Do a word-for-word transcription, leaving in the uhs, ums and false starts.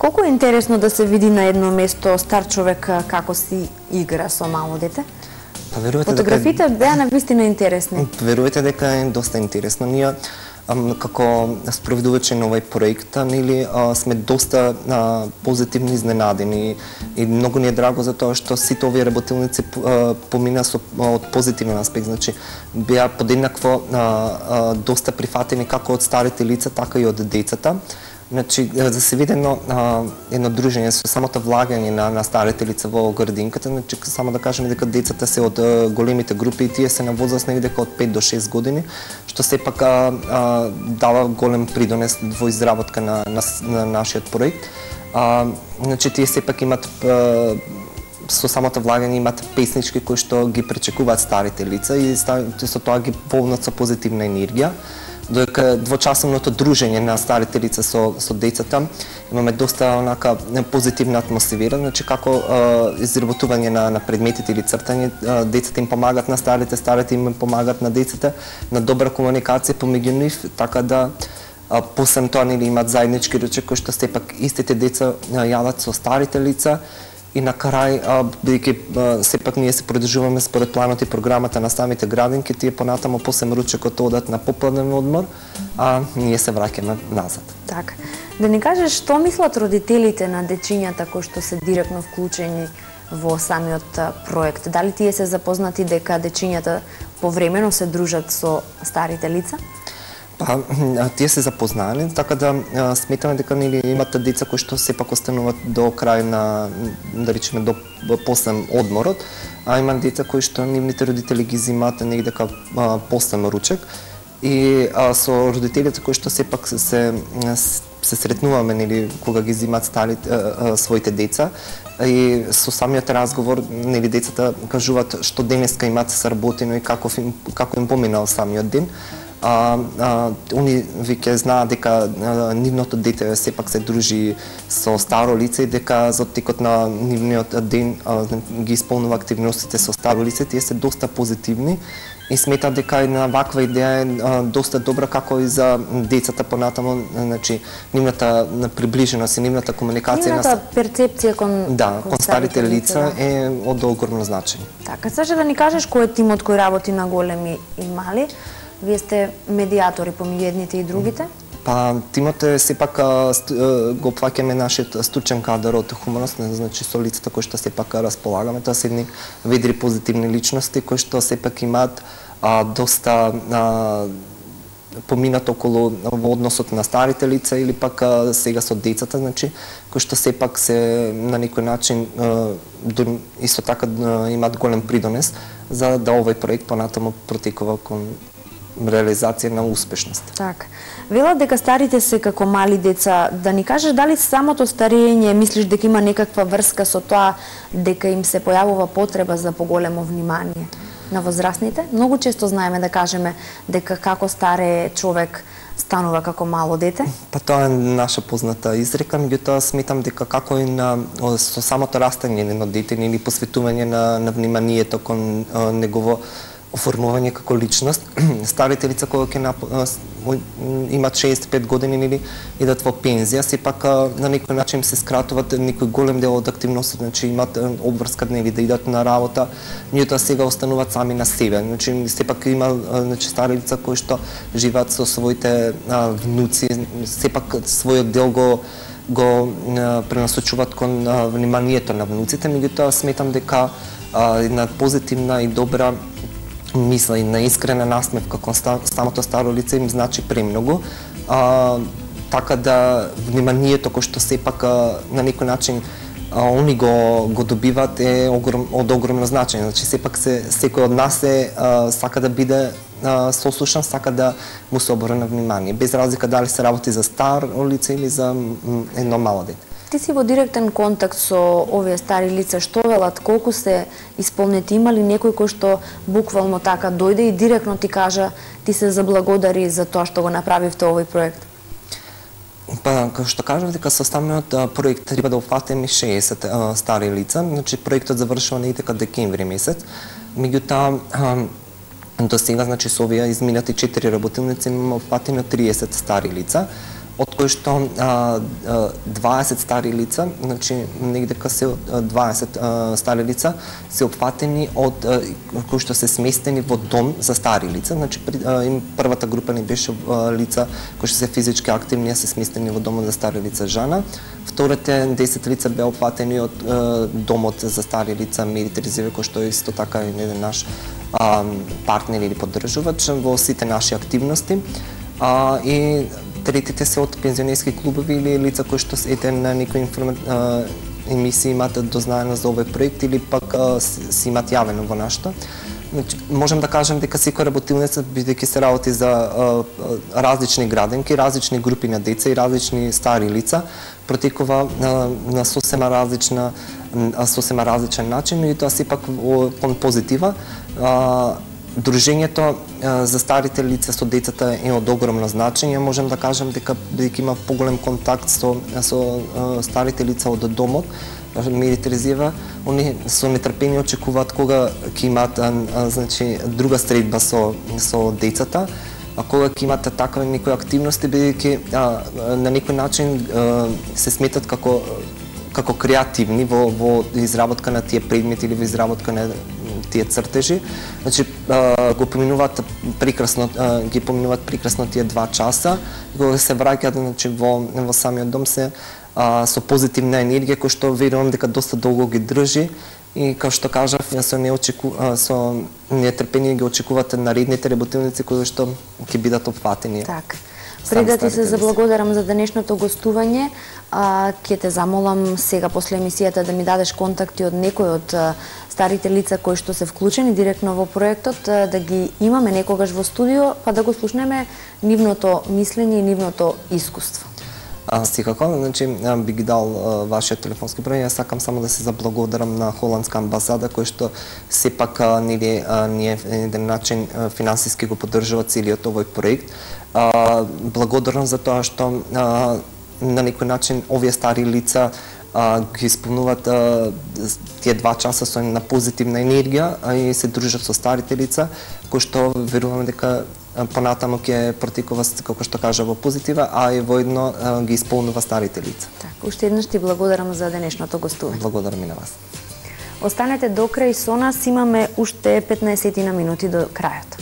Колку е интересно да се види на едно место стар човек како си игра со мало дете? Па верувате фотографите дека... беа навистина интересни. Верувате дека е доста интересно. Ние како спроведувачи на овој проект, нели сме доста а, позитивно изненадени и многу ни е драго за тоа што сите овие работилници а, помина со од позитивен аспект, значи беа подеднакво а, а, доста прифатени како од старите лица, така и од децата. Значи, за се види едно, а, едно дружење со самото влагање на, на старите лица во градинката, значи, само да кажеме дека децата се од а, големите групи и тие се на возраст негде од пет до шест години, што сепак а, а, дава голем придонес во изработка на, на, на нашиот проект. А, значи, тие сепак имат а, со самото влагање имат песнички кои што ги пречекуваат старите лица и со тоа ги полнат со позитивна енергија. Додека двочасовното дружење на старите лица со, со децата имаме доста онака позитивна атмосфера, значи како а, изработување на, на предметите или цртање, а, децата им помагат на старите, старите им помагат на децата, на добра комуникација помеѓу нив, така да а, посебно тоа нели имат заеднички ручек кои што сепак истите деца јадат со старите лица. И на крај, бидејќи сепак ние се придржуваме според планот и програмата на самите градинки, тие понатамо посем ручекот одат на попладен одмор, а ние се враќаме назад. Така. Да ни кажеш што мислат родителите на дечињата кои што се директно вклучени во самиот проект? Дали тие се запознати дека дечињата повремено се дружат со старите лица? Па, тие се запознаени, така да сметаме дека нели имате деца кои што сепак остануваат до крај на, да речеме, до посем одморот, а има деца кои што нивните родители ги земаат негде дека посем ручек и а, со родителите кои што сепак се, се, се сретнуваме нели кога ги земаат старите а, а, своите деца и со самиот разговор нели децата кажуваат што денеска имаат сработено и како им, како им поминал самиот ден. А, а, они веќе знаат дека а, нивното дете сепак се дружи со старо лице и дека за текот на нивниот ден а, ги исполнува активностите со старо лице, тие се доста позитивни и сметат дека една ваква идеја е а, доста добра како и за децата понатамо, значи нивната приближеност и нивната комуникација, нивната на... перцепција кон, да, кон, кон старите лица да. е од огромно значење. Така, сакаш да ни кажеш кој е тимот кој работи на големи и мали? Вие сте медиатори помеѓу едните и другите? Па, тимот е сепак го опфаќаме нашиот стручен кадар од хуманост, значи со лицата кои што сепак располагаме, тоа се едни ведри позитивни личности кои што сепак имаат а, доста а, поминат околу во односот на старите лица или пак а, сега со децата, значи кои што сепак се на некој начин а, до, исто така а, имаат голем придонес за да овој проект понатаму протекува кон реализација на успешност. Така. Велат дека старите се како мали деца. Да ни кажеш дали самото старење мислиш дека има некаква врска со тоа дека им се појавува потреба за поголемо внимание на возрастните? Многу често знаеме да кажеме дека како старе човек станува како мало дете. Па тоа е наша позната изрека, меѓутоа сметам дека како и на со самото растање на дете или посветување на, на вниманието кон а, негово оформување како личност, старите лица кои ќе имат шеесет и пет години или идат во пензија, сепак на некој начин се скратуваат некој голем дел од активностите, значи имаат обврска дневи да идат на работа, меѓутоа сега остануваат сами на себе. Значи сепак има значи стари лица кои што живеат со своите а, внуци, сепак својот дел го го а, пренасочуваат кон а, вниманието на внуците, меѓутоа сметам дека а, една позитивна и добра мисла и на искрена насмевка кон самото старо лице им значи премногу. А, така да вниманието кој што сепак на некој начин а, они го го добиваат е огром, од огромно значење. Значи сепак се секој од нас е а, сака да биде а, сослушан, сака да му се обрне внимание, без разлика дали се работи за старо лице или за едно мало дете. Ти си во директен контакт со овие стари лица, што велат, колку се исполнети, има ли некој кој што буквално така дојде и директно ти кажа, ти се заблагодари за тоа што го направивте овој проект? Па, како што кажав, дека со самиот проект треба да опфатиме шеесет а, стари лица, значи проектот завршува негде дека декември месец, меѓутоа до сега, значи со овие изминати четири работилници имаме опфатено триесет стари лица, од кои што а, дваесет стари лица, значи негде се дваесет а, стари лица се опфатени од а, кои што се сместени во дом за стари лица, значи а, им првата група не беше а, лица кои што се физички активни, се сместени во домот за стари лица жана. Вторите десет лица беа опфатени од а, домот за стари лица Медите Резерве, кој што е исто така еден наш а, партнер или поддржувач во сите наши активности. А, и третите се од пензионерски клубови или лица кои што ете на некои информа... емисии имаат дознаено за овој проект или пак а, си имаат јавено во нашата. Значи, можам да кажам дека секоја работилница, бидејќи се работи за а, различни граденки, различни групи на деца и различни стари лица, протекува на, на сосема различна, сосема различен начин, и тоа сепак кон позитива. А, Дружењето за старите лица со децата е од огромно значење. Можам да кажам дека бидејќи има поголем контакт со, со старите лица од домот, Медите Резерве, они со нетрпение очекуваат кога ќе имаат значи друга средба со со децата, а кога ќе имаат такви некои активности, бидејќи на некој начин се сметат како како креативни во во изработка на тие предмети или во изработка на тие цртежи. Значи го поминуваат прекрасно, ги поминуваат прекрасно тие два часа, кога се враќаат значи во во самиот дом се а, со позитивна енергија која што верувам дека доста долго ги држи, и како што кажав, со не очеку со нетрпение ги очекуваат наредните работилници кои што ќе бидат опфатени. Так. Пред да ти се заблагодарам за денешното гостување, а, ќе те замолам сега после емисијата да ми дадеш контакти од некој од а, старите лица кои што се вклучени директно во проектот, а, да ги имаме некогаш во студио, па да го слушнеме нивното мислење и нивното искуство. А, секако, значи, би ги дал а, вашиот телефонски број. Јас сакам само да се заблагодарам на холандска амбасада, кој што сепак нели ние еден начин финансиски го поддржува целиот овој проект. А, благодарам за тоа што а, на некој начин овие стари лица а, ги исполнуваат а, тие два часа со на позитивна енергија, а и се дружат со старите лица, кои што верувам дека понатаму ќе протекува, како што кажа, во позитива, а и воедно ги исполнува старите лица. Так, уште еднаш ти благодарам за денешното гостување. Благодарам и на вас. Останете до крај со нас, имаме уште петнаесет минути до крајот.